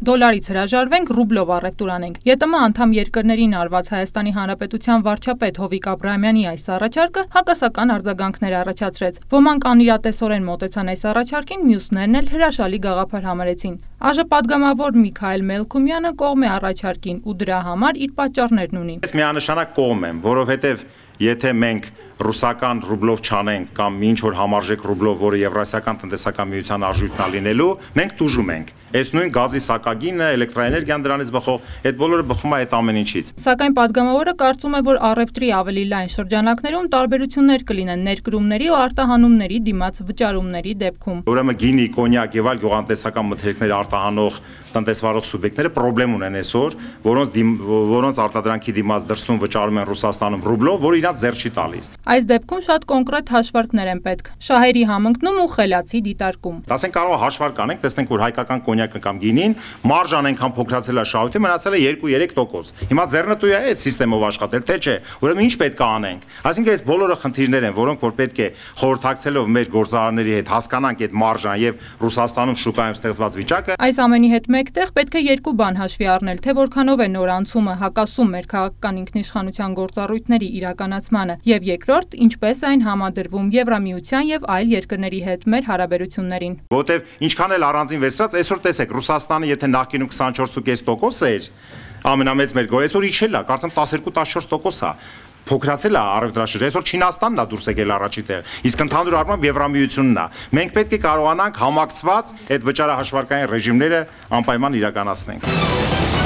Դոլարից հրաժարվենք, ռուբլով առևտուր անենք։ ԵՏՄ անդամ երկրներին արված Հայաստանի Հանրապետության վարչապետ Հովիկ Աբրահամյանի այս առաջարկը հակասական արձագանքներ առաջացրեց։ Ոմանք անիրատեսորեն մոտեցան այս առաջարկին, մյուսներն էլ հրաշալի գաղափար համարեցին։ ԱԺ պատգամավոր Միքայել Մելքումյանը կողմ է առաջարկին ու դրա համար իր պատճառներն ունի։ Ես միանշանակ կողմ եմ, որովհետև եթե մենք ռուսական ռուբլով չանենք կամ ինչ որ համարժեք ռուբլով, որը Եվրասիական տնտեսական միության արժույթն է լինելու, մենք տուժում ենք։ Այս նույն գազի սակագինը, էլեկտրաէներգիան դրանից բխող, այդ բոլորը բխում է այդ ամեն ինչից։ Սակայն պատգամավորը կարծում է, որ առևտրի ավելի լայն շրջանակներում տարբերություններ կլինեն ներկրումների ու արտահանումների դիմաց վճարումների դեպքում։ Ուրեմն գինի, կոնյակ եւ այլ գյուղատնտեսական մթերքներ արտահանող տնտեսվարող սուբյեկտները պրոբլեմ ունեն այսօր, որոնց արտադրանքի դիմաց դրսում վճարում են Ռուսաստանում ռուբլով, որը իրանց ձեռ չի տալիս։ Այս դեպքում շատ կոնկրետ հաշվարկներ են պետք։ Շահերի համընկնում ու խելացի դիտարկում։ Ասենք կարող է հաշվարկ անենք, տեսնենք, որ հայկական կոնյակը կամ գինին մարժան այնքան փոքրացել է շահույթը, մնացել է 2-3%։ Հիմա ձեռնտու է այդ համակարգով աշխատել, թե չէ։ Ուրեմն ինչ պետք է անենք։ Այսինքն այս բոլորը խնդիրներ են, որոնք որ պետք է խորհրդակցելով մեր գործարարների հետ հասկանանք այդ մարժան եւ Ռուսաստանում շուկայում ստեղծված վիճակը։ Այս ամենի հետ մեկտեղ պետք է երկու բան հաշվի առնել, թե որքանով է նոր անցումը հակասում մեր քաղաքական ինքնիշխանության գործառույթների իրականացմանը, եւ երկրորդ, ինչպես այն համադրվում Եվրամիության եւ այլ երկրների հետ մեր հարաբերություններին։ Որտեւ ինչքան էլ առանձին վերցրած, այսօր տեսեք, Ռուսաստանը եթե նախկինում 24.5% էր, ամենամեծ մեր գորը, այսօր իջել է, կարծեմ 12-14% է։ Փոքրացել է առևտրաշրջանը, այսօր Չինաստանն է դուրս եկել առաջի տեղ, իսկ ընդհանուր առմամբ Եվրամիությունն է։ Մենք պետք է կարողանանք համակցված այդ վճարահաշվարկային ռեժիմները անպայման իրականացնենք։